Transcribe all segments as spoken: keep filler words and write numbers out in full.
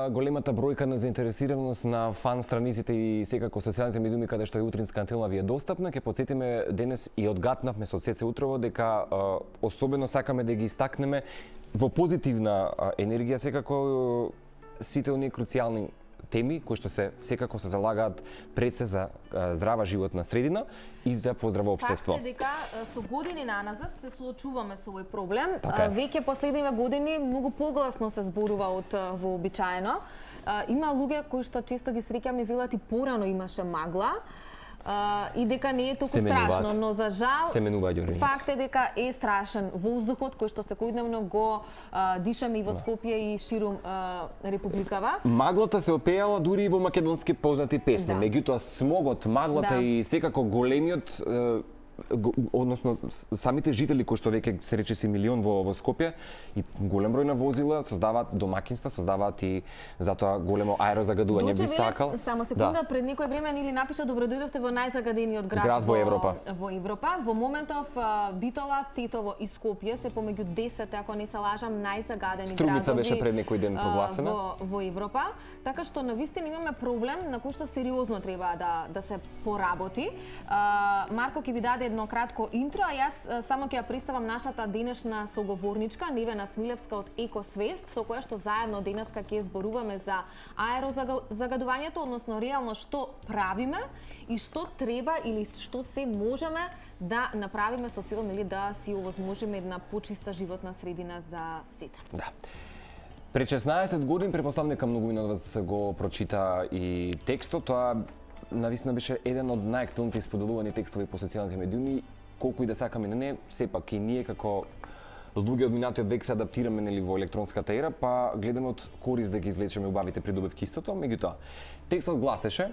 големата бројка на заинтересираност на фан страниците и секако социјалните медиуми каде што е утринска антена ви е достапна, ќе потсетиме денес и одгатнавме со ЦЦ утрово дека особено сакаме да ги истакнеме во позитивна енергија секако сите оние круцијални теми кои што се секако се залагаат пред се за здрава животна средина и за поздраво општество. Факт е дека со години наназад се соочуваме со овој проблем. Така Веќе последниве години многу погласно се зборува од вообичаено. Има луѓе кои што често ги среќаме велат и порано имаше магла. Uh, и дека не е толку страшно, но за жал факт е дека е страшен воздухот кој што секојдневно го uh, дишаме и во Скопје и ширум uh, републикава. Маглата се опеала дури и во македонски познати песни, да. Меѓутоа смогот, маглата да. И секако големиот uh, односно самите жители кои што веќе се рече си милион во, во Скопје и голем број на возила создаваат домакинства, создаваат и затоа големо аерозагадување би сакал. Само секунда, да. Пред некој време нели напиша добро дојдовте во најзагадениот град, град во, во Европа. Во Европа. Во моментов Битола, Тетово и Скопје се помеѓу десет, ако не се лажам, најзагадени градови. Струмица беше пред некој ден прогласена во, во Европа. Така што навистина имаме проблем на кој што сериозно треба да да се поработи. Марко ќе ви даде едно кратко интро, а јас само ќе ја представам нашата денешна соговорничка Невена Смилевска од Екосвест, со која што заедно денеска ќе зборуваме за аерозагадувањето, односно реално што правиме и што треба или што се можеме да направиме со цел нели да си овозможиме една почиста животна средина за сите. Да. Пред шеснаесет години, претпоставам дека многумина од вас го прочита и текстот, тоа навистина беше еден од најактуелните исподелувани текстови по социјалните медиуми, колку и да сакаме на не, сепак и ние како луѓе од минатиот век се адаптираме нели во електронската ера, па гледаме од корист да ги извлечеме убавите придобивки истото, меѓутоа текстот гласеше: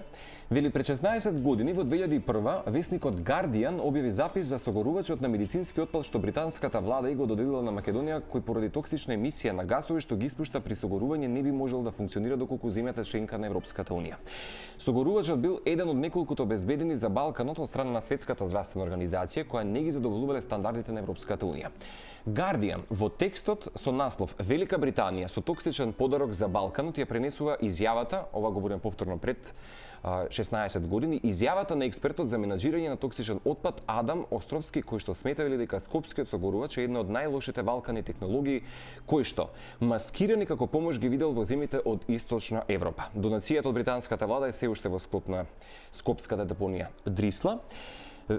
вели пред шеснаесет години во две илјади и прва весникот Guardian објави запис за согорувачот на медицински отпад што британската влада и го доделила на Македонија, кој поради токсична емисија на гасови што ги испушта при согорување не би можел да функционира доколку земјата членка на Европската унија. Согорувачот бил еден од неколкуто обезбедени за Балканот од страна на Светската здравствена организација која не ги задоволувале стандардите на Европската унија. Guardian во текстот со наслов Велика Британија со токсичен подарок за Балканот ја пренесува изјавата, ова говорим повторно пред шеснаесет години, изјавата на експертот за менаџирање на токсичен отпад Адам Островски, кој што сметавали дека скопскиот согорувач е една од најлошите балкани технологии, кој што маскирани како помош ги видел во земјите од Источна Европа. Донацијата од британската влада е се уште во склоп на скопската депонија Дрисла. Е,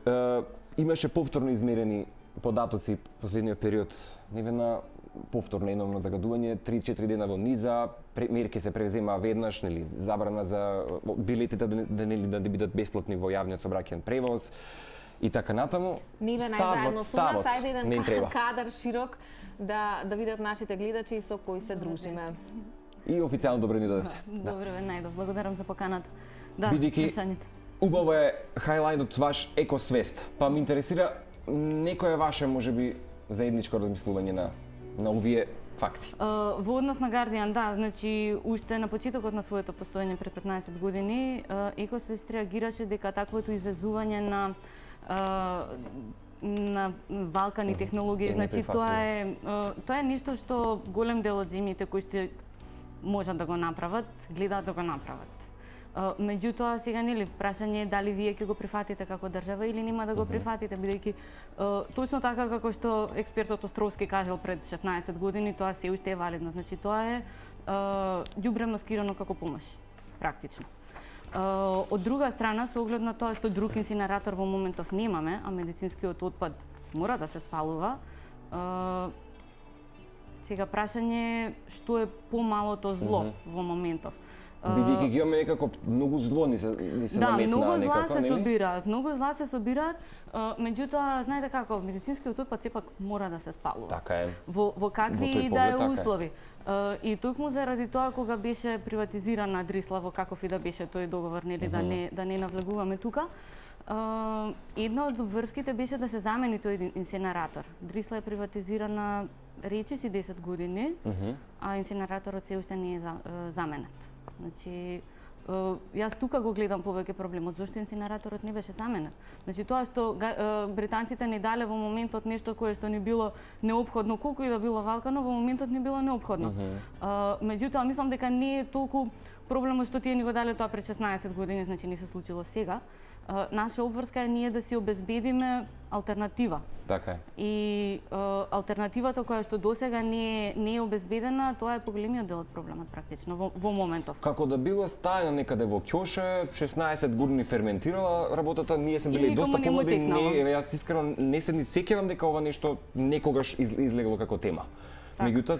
имаше повторно измерени податоци последниот период, Невена, повторно еновно загадување, три-четири дена во низа, мерки се превзема веднаш, нели, забрана за билетите да, да, нели, да бидат бесплатни во јавниот сообраќајен превоз и така натаму. Невена е заедно со нас, ајде еден кадар широк да да видат нашите гледачи со кои се дружиме. И официјално добро ни дојдовте. Добро ве најдов, благодарам за поканата. Да, бидејќи убаво е хајлајтот ваш екосвест, па ме интересира некое ваше можеби заедничко размислување на на овие факти. Uh, во однос на Guardian, да, значи уште на почетокот на своето постоење пред петнаесет години, uh, Екосвест реагираше дека таквото извезување на uh, на Балкани технологии, значи тоа е uh, тоа е нешто што голем дел од земјите кои што можат да го направат, гледаат да го направат. Uh, меѓутоа сега нели прашање е дали вие ќе го прифатите како држава или нема да го прифатите, бидејќи uh, точно така како што експертот Островски кажал пред шеснаесет години, тоа се уште е валидно. Значи тоа е ѓубре uh, маскирано како помош, практично. Uh, од друга страна, со оглед на тоа што друг инсинератор во моментов немаме, а медицинскиот отпад мора да се спалува, uh, сега прашање е што е помалото зло mm -hmm. во моментов. Бидејќи ги имаме некако многу зло ни се, ни се да, наметна многу зла некако, се собираат, многу зла се собираат, меѓутоа знаете како медицинскиот отпад сепак мора да се спалува. Така е. Во во какви и да е услови. И токму заради тоа кога беше приватизирана Дрисла, во каков и да беше тој договор, нели да не да не навлегуваме тука. Една од врските беше да се замени тој инсинератор. Дрисла е приватизирана речи си десет години, а инсинераторот се уште не е заменет. Значи, јас тука го гледам повеќе проблемот, зошто инсинераторот не беше заменет. Значи тоа што британците ни дале во моментот нешто кое што ни било неопходно, колку и да било валкано, во моментот не било неопходно. Uh -huh. Меѓутоа мислам дека не е толку проблемот што тие ни го дале тоа пред шеснаесет години, значи не се случило сега. Наша обврска е ние да си обезбедиме алтернатива. Така е. И uh, алтернативата која што досега не е, не е обезбедена, тоа е поголемиот дел од проблемот практично во, во моментов. Како да било стајано некаде во ќоше, шеснаесет години ферментирала работата, ние сме били доста помлади, не, јас искрено не се ни сеќавам дека ова нешто некогаш из, излегло како тема. Меѓутоа,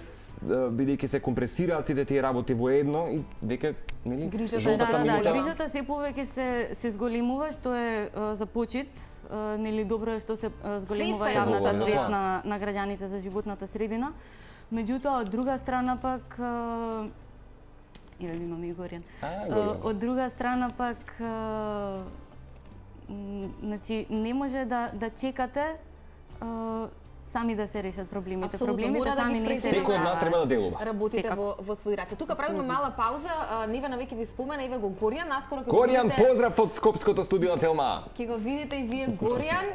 бидејќи се компресираат сите тие работи во едно и веќе, нели, грижата, жолтата да, да, минута... Да, грижата се повеќе се се зголемува, што е uh, за почит, uh, нели добро е што се uh, зголемува јавната свест на на граѓаните за животната средина. Меѓутоа, од друга страна пак uh, ја имаме и Горијан. Uh, од друга страна пак uh, значи не може да да чекате uh, сами да се решат проблемите. Абсолютно, проблемите сами да не се решат. Секој од нас треба да делува. Работите Секак. во во своји раце. Тука правиме мала пауза. Невена веќе ви спомена, еве го Горијан, наскоро ќе Горијан, видите... поздрав од скопското студио на Телма. Ќе го видите и вие Горијан.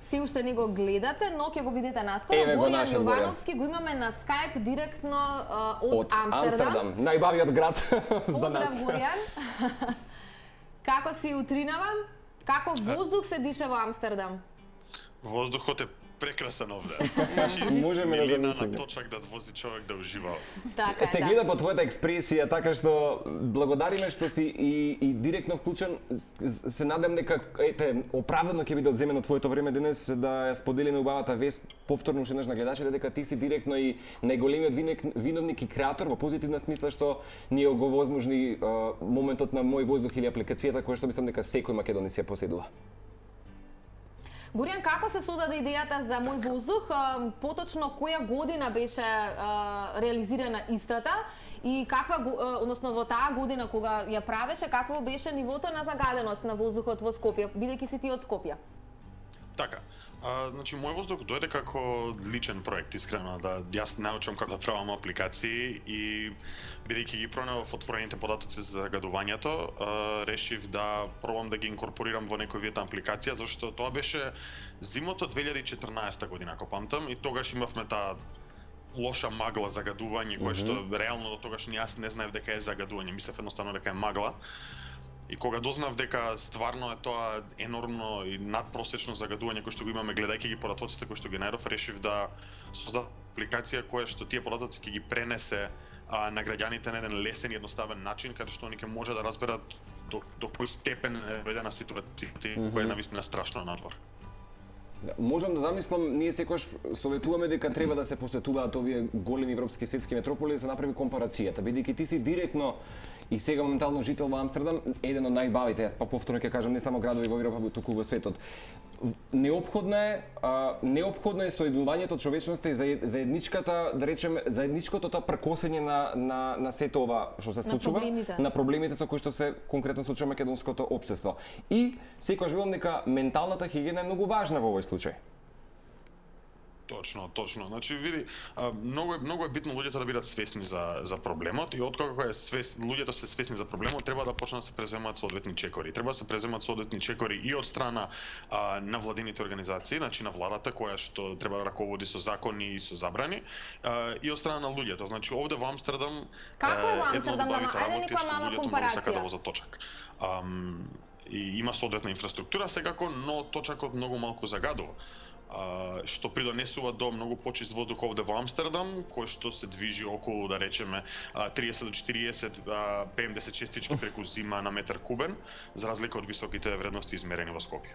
Се уште не го гледате, но ќе го видите наскоро. Еве, Горијан Јовановски го имаме на Skype директно uh, од, од Амстердам. Амстердам, најбавиот град за нас. Поздрав, Горијан. Како си утринава? Како воздух се диша во Амстердам? Воздухот е прекрасен овде. Можеме да замислиме. На точак да вози човек да ужива. Така, се да. гледа по твојата експресија, така што благодариме што си и, и директно вклучен. Се надам дека ете оправдано ќе биде одземено твоето време денес да ја споделиме убавата вест повторно уште еднаш на гледачите дека ти си директно и најголемиот виновник и креатор во позитивна смисла што ни го возможни моментот на Мој воздух или апликацијата која што мислам дека секој македонец ја поседува. Горијан, како се создаде идејата за Мој воздух? Поточно која година беше а, реализирана истата и каква, односно во таа година кога ја правеше, какво беше нивото на загаденост на воздухот во Скопје, бидејќи си ти од Скопје? Така. А, значи, Мој воздух дојде како личен проект, искрено, да јас научам како да правам апликации и бидејќи ги пронавав отворените податоци за загадувањето, а, решив да пробам да ги инкорпорирам во некој вид апликација, зашто тоа беше зимото две илјади и четрнаесета година, ако памтам, и тогаш имавме таа лоша магла загадување, кое што реално до тогаш јас не знаев дека е загадување, мислев едноставно дека е магла. И кога дознав дека стварно е тоа енормно и надпросечно загадување кој што го имаме гледајќи ги податоците кои што ги најдов, решив да создадам апликација која што тие податоци ќе ги пренесе а, на граѓаните на еден лесен и едноставен начин, каде што они ќе може да разберат до, до кој степен е дојдена ситуацијата mm -hmm. која е навистина страшно надвор. Можам да замислам, ние секогаш советуваме дека треба да се посетуваат овие големи европски светски метрополи да се направи компарацијата, бидејќи ти си директно и сега моментално жител во Амстердам, еден од најбавите, јас па повторно ќе кажам, не само градови во Европа, туку во светот. Неопходно е, а, неопходно е соединувањето од човечноста и заедничката, да речеме, заедничкото тоа пркосење на на на сето ова што се случува, на проблемите, на проблемите со кои што се конкретно случува македонското општество. И секогаш велам дека менталната хигиена е многу важна во овој случај. Точно, точно. Значи, види, многу е многу е битно луѓето да бидат свесни за за проблемот и откако е свес, луѓето се свесни за проблемот, треба да почнат да се преземаат соодветни чекори. Треба да се преземаат соодветни чекори и од страна а, на владините организации, значи на владата која што треба да раководи со закони и со забрани, а, и од страна на луѓето. Значи овде во Амстердам Како е во Амстердам, ама ајде некоја мала компарација. Сака да возат точак. Ам, и има соодветна инфраструктура секако, но точакот многу малку загадува. Uh, што придонесува до многу почист воздух овде во Амстердам, кој што се движи околу, да речеме, uh, триесет до четириесет uh, пе ем десет честички преку зима на метар кубен, за разлика од високите вредности измерени во Скопје.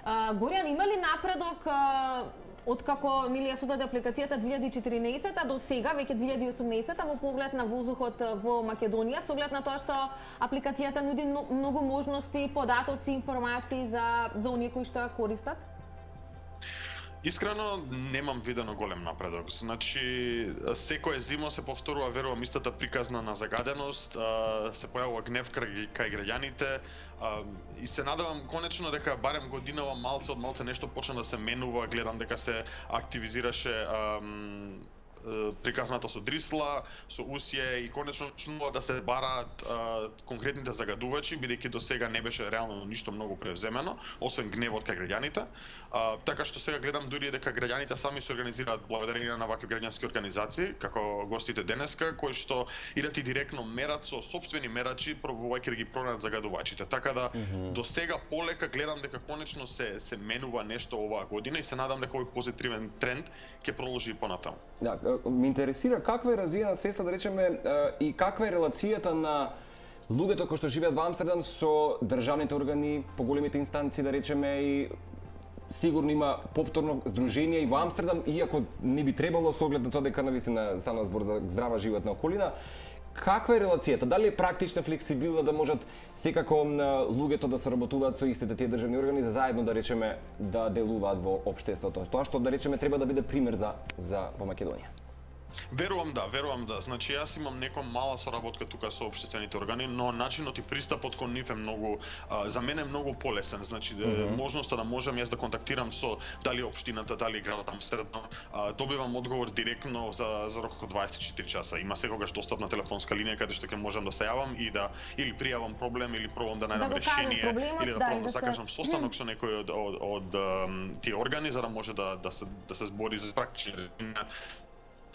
Uh, Горијан, има ли напредок uh, откако нели ја создаде апликацијата две илјади и четиринаесета до сега, веќе две илјади и осумнаесета, во поглед на воздухот во Македонија, со оглед на тоа што апликацијата нуди многу можности, податоци, информации за за оние кои што ја користат? Искрено немам видено голем напредок. Значи секоја зима се повторува, верувам, истата приказна на загаденост, се појавува гнев кај граѓаните и се надевам конечно дека барем годинава малце од малце нешто почна да се менува. Гледам дека се активизираше приказната со дрисла, со усје и конечно почнува да се бараат а, конкретните загадувачи, бидејќи до сега не беше реално ништо многу превземено, освен гневот кај граѓаните. А, така што сега гледам дури дека граѓаните сами се организираат благодарение на вакви граѓански организации, како гостите денеска, кои што идат и директно мерат со сопствени мерачи, пробувајќи да ги пронајдат загадувачите. Така да mm -hmm. до сега полека гледам дека конечно се се менува нешто оваа година и се надам дека овој позитивен тренд ќе продолжи и понатаму. Да, ме интересира каква е развиена свеста, да речеме, и каква е релацијата на луѓето кои што живеат во Амстердам со државните органи, поголемите инстанции, да речеме, и сигурно има повторно здружение и во Амстердам, иако не би требало со оглед на тоа дека навистина станува збор за здрава животна околина. Каква е релацијата? Дали е практична, флексибилна, да можат секако луѓето да соработуваат со истите тие државни органи за заедно, да речеме, да делуваат во општеството? Тоа што, да речеме, треба да биде пример за, за во Македонија. Верувам да, верувам да. Значи јас имам нека мала соработка тука со општествените органи, но начинот и пристапот кон нив е многу а, за мене е многу полесен. Значи mm -hmm. можноста да можам јас да контактирам со дали општината, дали градот Амстердам, а, добивам одговор директно за за рок од дваесет и четири часа. Има секогаш достапна телефонска линија каде што ќе можам да се јавам и да или пријавам проблем или пробам да најдам да решение или да пробам да, да закажам се... состанок со некој од од, од, од тие органи за да може да да се да се збори за практични решенија.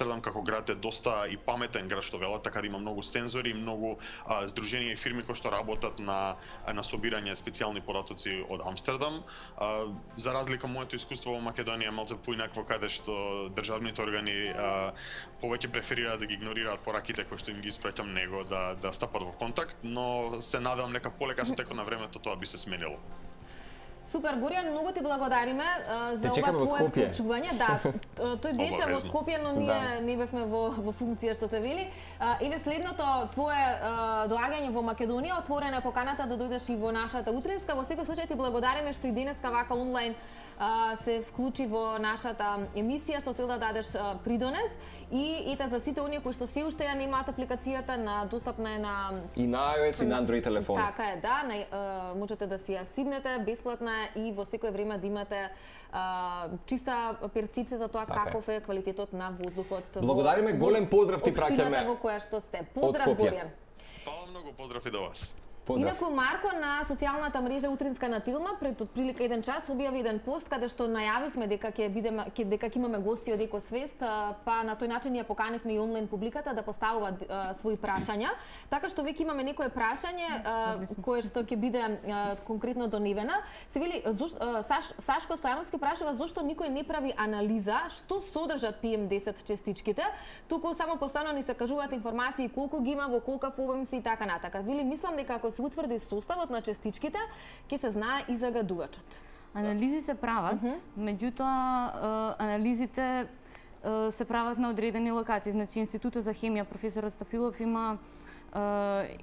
Амстердам како град е доста и паметен град што велат, така да има многу сензори, многу а, здруженија и фирми кои што работат на на собирање специјални податоци од Амстердам. А, за разлика од моето искуство во Македонија малку поинакво, каде што државните органи а, повеќе преферираат да ги игнорираат пораките кои што им ги испраќам него да да стапат во контакт, но се надевам дека полека со текот на времето тоа би се сменило. Супер, Боријан, многу ти благодариме uh, за ова твое вклучување. Да, тој беше во Скопје, но ние да. не бевме во, во функција, што се вели. Uh, Еве следното твое uh, доаѓање во Македонија, отворена е поканата да дојдеш и во нашата утринска. Во секој случај ти благодариме што и денеска вака онлайн uh, се вклучи во нашата емисија со цел да дадеш uh, придонес. И ете за сите оние кои што се уште ја немаат апликацијата, на достапна е на и на iOS и на Android телефон. Така е, да, на, uh, можете да си ја сибнете, бесплатна и во секој време да имате uh, чиста перцепција за тоа така каков е квалитетот на воздухот. Благодариме, голем поздрав ти праќаме. Во која што сте. Поздрав, Боријан. Фала многу, поздрав и до вас. Поздрав. Инаку Марко на социјалната мрежа Утринска на Тилма пред отприлика еден час објави еден пост каде што најавивме дека ќе бидеме ќе дека ќе имаме гости од Екосвест, па на тој начин ја поканивме и онлайн публиката да поставува а, своји прашања. Така што веќе имаме некое прашање а, кое што ќе биде а, конкретно до Невена. Се вели зошто Саш, Сашко Стојановски прашува зошто никој не прави анализа што содржат пи ем десет честичките, туку само постојано ни се кажуваат информации колку ги има, во колкав обем се и така натака. Вели мислам дека ако се утврди составот на честичките, ќе се знае и загадувачот. Анализи се прават, uh -huh. меѓутоа анализите се прават на одредени локации. Значи Институтот за хемија професорот Стафилов има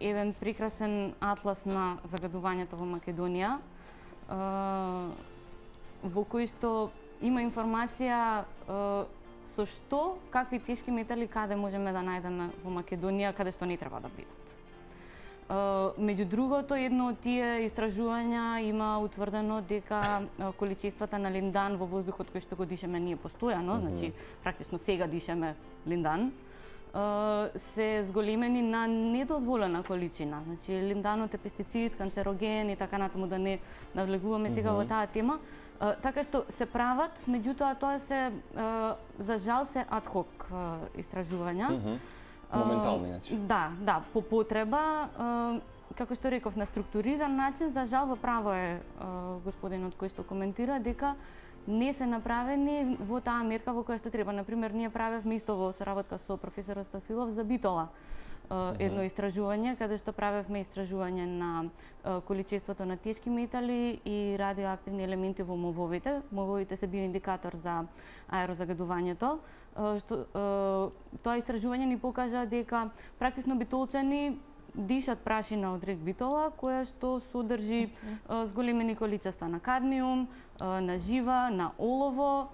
еден прекрасен атлас на загадувањето во Македонија, во кој што има информација со што, какви тешки метали каде можеме да најдеме во Македонија, каде што не треба да бидат. Uh, меѓу другото, едно од тие истражувања има утврдено дека uh, количествата на линдан во воздухот кој што го дишеме ние постојано, mm -hmm. значи практично сега дишеме линдан, uh, се зголемени на недозволена количина. Значи линданот е пестицид, канцероген и така натаму, да не навлегуваме сега mm -hmm. во таа тема. Uh, така што се прават, меѓутоа тоа се uh, за жал се адхок uh, истражувања. Mm -hmm. Моментални, значи. Да, да, по потреба, како што реков, на структуриран начин, за жал во право е господинот кој што коментира дека не се направени во таа мерка во која што треба. Например, ние правевме исто во соработка со професорот Стафилов за битола едно истражување, каде што правевме истражување на количеството на тешки метали и радиоактивни елементи во мововите. Мововите се биоиндикатор за аерозагадувањето. Што, тоа истражување ни покажа дека практично битолчани дишат прашина од рек битола, која што содржи зголемени количества на кадмиум, на жива, на олово,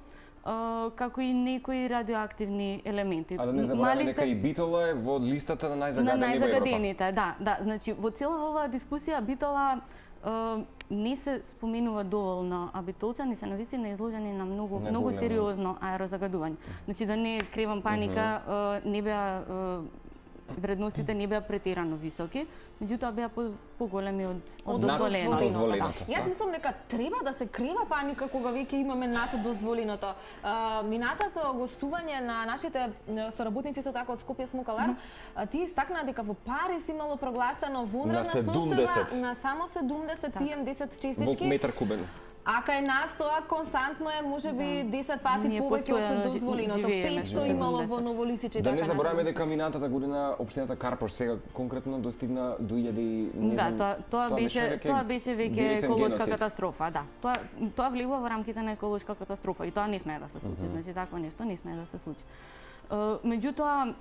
како и некои радиоактивни елементи. А да не забораваме дека и битола е во листата на најзагадени во Европа. На најзагадените, да, да. Значи, во цела оваа дискусија битола не се споменува доволно, а битолчани се навистина изложени на многу Не многу големо. сериозно аерозагадување. Значи да не кревам паника, не беа вредностите не беа претерано високи, меѓутоа беа по, поголеми од од Над дозволеното. дозволеното. Јас мислам дека треба да се крива паника кога веќе имаме над дозволеното. А, минатото гостување на нашите соработници со така од Скопје Смокалар, mm -hmm. тие истакнаа дека во Париз имало прогласено вонредна состојба на само седумдесет пи ем десет Во честички. метар кубен. А кај нас тоа константно е можеби десет пати Ние повеќе од постојано дозволеното. живееме петсто со имало во седумдесет. Новолисиче. Да така не забораваме натаму. дека минатата година општината Карпош сега конкретно достигна до илјади и не Да, знам, тоа тоа беше веќе тоа беше веќе директен еколошка геноцид. катастрофа, да. Тоа тоа влегува во рамките на еколошка катастрофа и тоа не смее да се случи. Значи такво нешто не смее да се случи. Е, меѓутоа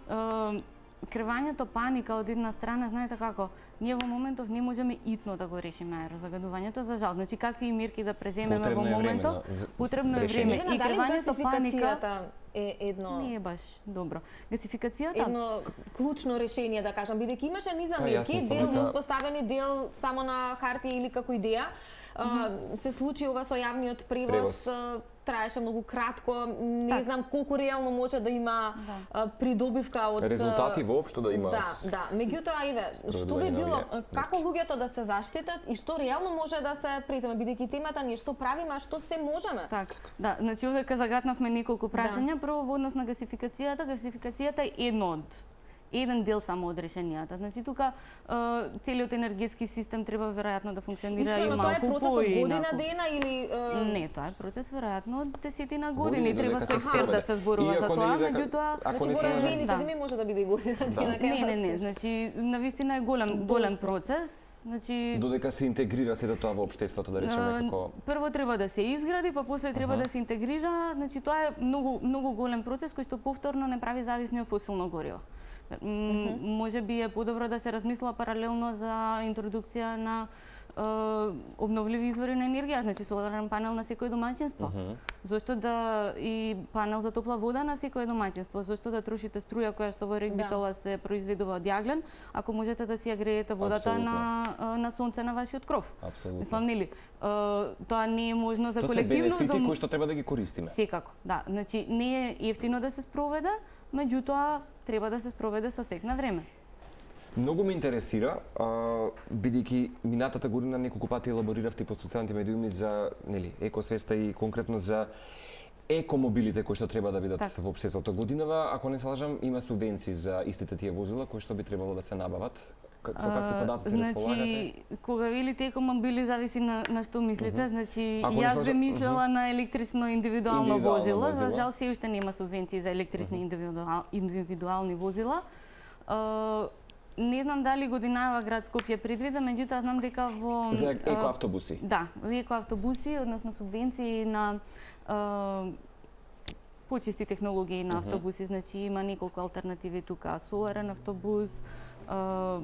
е, кревањето паника од една страна, знаете како, ние во моментов не можеме итно да го решиме аерозагадувањето, за жал. Значи какви мерки да преземеме Потребно во е време моментов, на потребно е решение. време. Еве, И дали кревањето паника гасификацијата е едно не е баш добро. Гасификацијата едно клучно решение, да кажам, бидејќи имаше низа Па, јас мерки, мислам дел дека- поставени, дел само на хартија или како идеја. А, се случи ова со јавниот превоз, Превоз. а, траеше многу кратко, не Так. знам колку реално може да има Да. а, придобивка од Резултати воопшто да има. Да, да. Меѓутоа, Иве, што би Спроведување на било, овие како луѓето да се заштитат и што реално може да се преземе, бидејќи темата ние што правиме, а што се можеме? Так, да, значи овде загатнавме неколку прашања. Прво во однос на гасификацијата, гасификацијата е едно од еден дел само од решенијата. Значи тука е, целиот енергетски систем треба веројатно да функционира и Искрено, тоа е малку процес од година поинаку. дена или е, Не, тоа е процес веројатно од десетина Години, години. Треба додека со се експерт да спроведе. се зборува за Иако тоа, нели дека- меѓутоа ако не Значи, се во лажам- развиените Да. земји може да биде и година дена. кај не, не, не, нас. значи навистина е голем голем процес. Значи Додека се интегрира сето тоа во општеството, да речеме, Е, како Прво треба да се изгради, па после треба да се интегрира. Значи тоа е многу многу голем процес кој што повторно не прави зависни од фосилно гориво. М, Може би е подобро да се размислува паралелно за интродукција на е, обновливи извори на енергија, значи соларен панел на секој домаќинство. Зошто да и панел за топла вода на секој домаќинство? Зошто да трошите струја која што во Регбитола се произведува од јаглен, ако можете да си ја греете водата Апсолутно. на на сонце на вашиот кров? Апсолутно. Мислам, нели, е, тоа не е можно за тоа се колективно бенефити дом- кои што треба да ги користиме. Секако, да. Значи не е ефтино да се спроведе, меѓутоа треба да се спроведе со тек на време. Многу ме интересира, а, бидејќи минатата година неколку пати елабориравте по социјалните медиуми за, нели, екосвеста и конкретно за екомобилите кои што треба да бидат Так. во општеството. Годинава, ако не се лажам, има субвенции за истите тие возила кои што би требало да се набават. Как- Со какви податоци значи, располагате? кога велите екомобили зависи на, на што мислите. Значи, Ако не јас сложа- би мислела на електрично индивидуално Индивидуално возило. За возило. жал се уште нема субвенции за електрични индивидуал, индивидуални возила. Е, не знам дали годинава град Скопје предвида, меѓутоа знам дека во За е, екоавтобуси. Да, екоавтобуси, односно субвенции на е, почисти технологии на автобуси, значи има неколку алтернативи тука, соларен автобус, е,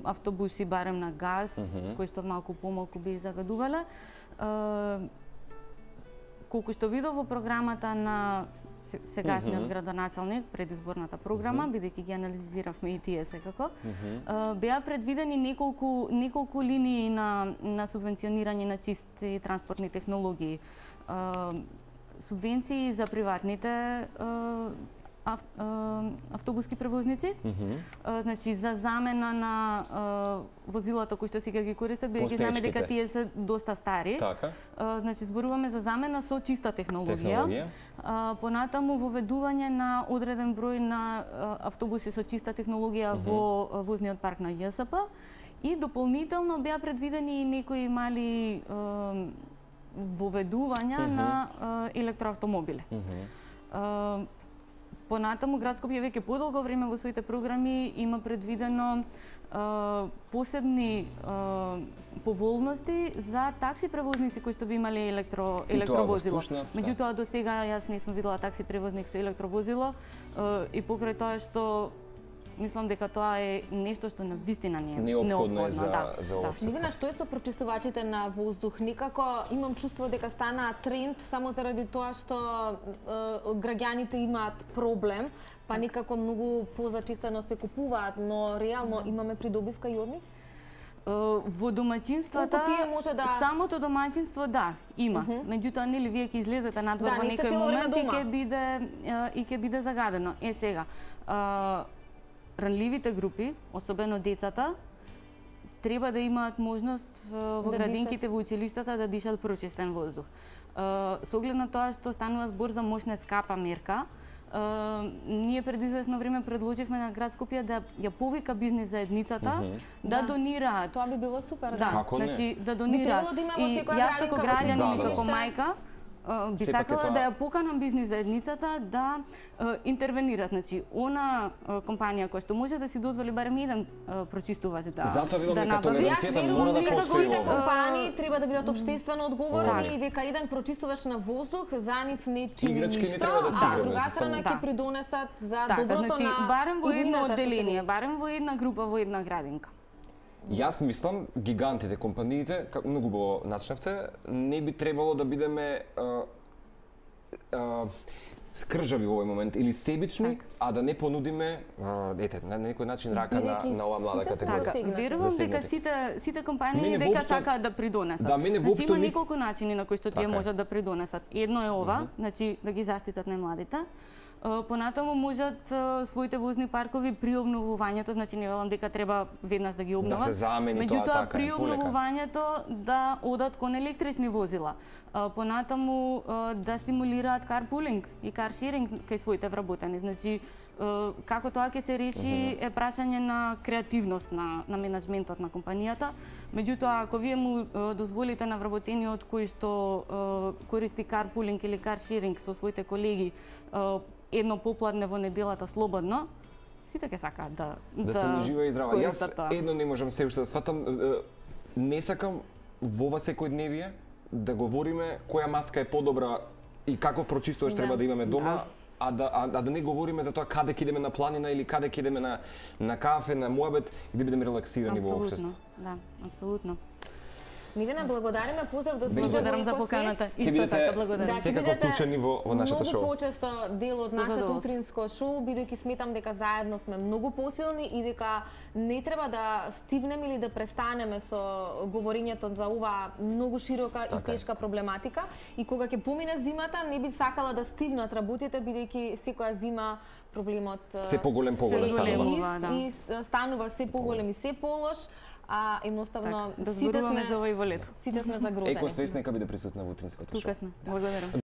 автобуси барем на газ, кои што малку помалку би загадувале. Е, колку што видов во програмата на се- сегашниот градоначалник, предизборната програма, бидејќи ги анализиравме и тие секако, е, беа предвидени неколку неколку линии на на субвенционирање на чисти транспортни технологии. Е, субвенции за приватните е, ав, е, автобуски превозници, е, значи за замена на е, возилата кои што сега ги користат, бидејќи знаме дека Постечките. тие се доста стари. Така, Е, значи зборуваме за замена со чиста технологија. технологија. А, понатаму воведување на одреден број на а, автобуси со чиста технологија во а, возниот парк на Ј С П и дополнително беа предвидени и некои мали а, воведувања на а, електроавтомобили. А, понатаму град Скопје веќе подолго време во своите програми има предвидено а, посебни а, поволности за такси превозници кои што би имале електро И тоа во електровозило. Скушнав, да. Меѓутоа до сега јас не сум видела такси превозник со електровозило а, и покрај тоа што мислам дека тоа е нешто што навистина не е Неопходно е за да, за да. општество. Милена, што е со прочистувачите на воздух? Некако имам чувство дека стана тренд само заради тоа што е, граѓаните имаат проблем, па некако многу позачистено се купуваат, но реално имаме придобивка и од нив? Во домаќинствата Колку тие може да- самото домаќинство да има. Меѓутоа нели вие ќе излезете надвор Да, во не сте некој цело време момент и дома. ќе биде е, и ќе биде загадено. Е сега, а, ранливите групи, особено децата, треба да имаат можност е, во Да градинките, во училиштата да дишат прочистен воздух. Е, Со оглед на тоа што станува збор за мощна скапа мерка, Uh, ние пред известно време предложивме на град Скопје да ја повика бизнис заедницата mm -hmm. да, Да. донираат. Тоа би било супер, Да, да. Како не? значи да Би донираат. требало да има во И секоја јас како градинка, во граѓанин секој и како училиште. мајка а, би Сепак е сакала тоа- да ја поканам бизнис заедницата да а, интервенира. Значи, она а, компанија која што може да си дозволи барем еден а, прочистувач да Затоа велам да дека набави. Јас толеранцијата верувам мора да дека постои сите овде. компании треба да бидат општествено одговорни Так. и дека еден прочистувач на воздух за нив не чини Играчки не ништо, треба да се а играме, друга за страна само- ќе придонесат за Така, доброто значи, на барем во едно иднината што се одделение, вidi. барем во една група, во една градинка. Јас мислам, гигантите, компаниите, како многу го начнавте, не би требало да бидеме а, а, скржави во овој момент или себични, Так. а да не понудиме, а, ете, на некој начин рака на, Бидејќи на оваа млада сите сме категорија. Така, Засегнати. верувам дека Засегнати. сите сите компании Мене дека воопшто- сакаат да придонесат. Да, мене значи воопшто има ни- неколку начини на кои што тие Така е. можат да придонесат. Едно е ова, значи да ги заштитат најмладите. Е, Понатаму можат е, своите возни паркови при обновувањето, значи не велам дека треба веднаш да ги обноват. се замени тоа, Меѓутоа така е, при полека. обновувањето да одат кон електрични возила. Е, Понатаму е, да стимулираат карпулинг и каршеринг кај своите вработени. Значи е, како тоа ќе се реши е прашање на креативност на на менаџментот на компанијата. Меѓутоа ако вие му е, дозволите на вработениот кој што е, користи карпулинг или каршеринг со своите колеги е, едно попладне во неделата слободно, сите ќе сакаат да Да стане жива и здрава. Јас користат тоа. едно не можам се уште да сватам, е, не сакам во ова секојдневие да говориме која маска е подобра и каков прочистувач Да. треба да имаме дома, Да. а да а, а да не говориме за тоа каде ќе идеме на планина или каде ќе идеме на на кафе, на муабет и да бидеме релаксирани во општество. Да, апсолутно. Нивина, благодариме, поздрав до сите Благодарам во за Екосвест. поканата. Ќе Исто бидете така, благодарам. Да, ќе секако бидете вклучени во, во нашата шоу. Многу почесто дел од Со нашето задоволство. утринско шоу, бидејќи сметам дека заедно сме многу посилни и дека не треба да стивнеме или да престанеме со говорењето за оваа многу широка и Така е. тешка проблематика. И кога ќе помине зимата, не би сакала да стивнат работите, бидејќи секоја зима проблемот Се поголем, поголем се станува. ист Да. и станува се поголем и се полош, а едноставно Така, да сите зборуваме сме за ова и во лето. сите сме загрозени. Екосвест нека биде присутна во утринското шоу. Тука сме. Благодарам.